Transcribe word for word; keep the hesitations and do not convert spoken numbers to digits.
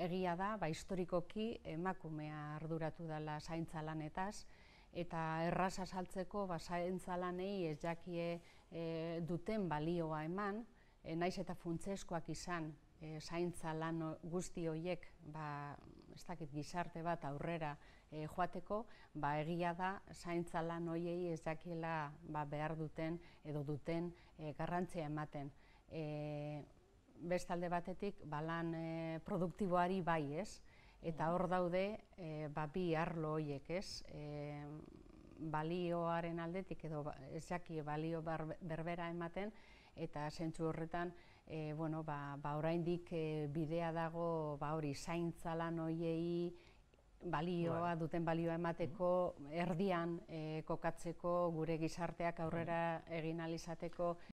egia da, ba, historikoki emakumea arduratu dela zaintza lanetaz, eta erraz azaltzeko ba, zaintza lanei ez jakie e, duten balioa eman, e, naiz eta funtsezkoak izan e, zaintza lan guzti horiek ba, ez dakit, gizarte bat aurrera e, joateko, ba, egia da zaintza lan horiei ez jakiela ba, behar duten edo duten e, garrantzia ematen. E, bestalde batetik, ba, lan e, produktiboari bai, ez? Eta hor daude e, ba, bi arlo horiek, ez? E, balioaren aldetik edo ez jaki balio berbera ematen, eta zentzu horretan e, bueno, ba, ba, oraindik e, bidea dago ba, hori zaintza lan horiei balioa, duten balioa emateko, erdian e, kokatzeko, gure gizarteak aurrera egin ahal izateko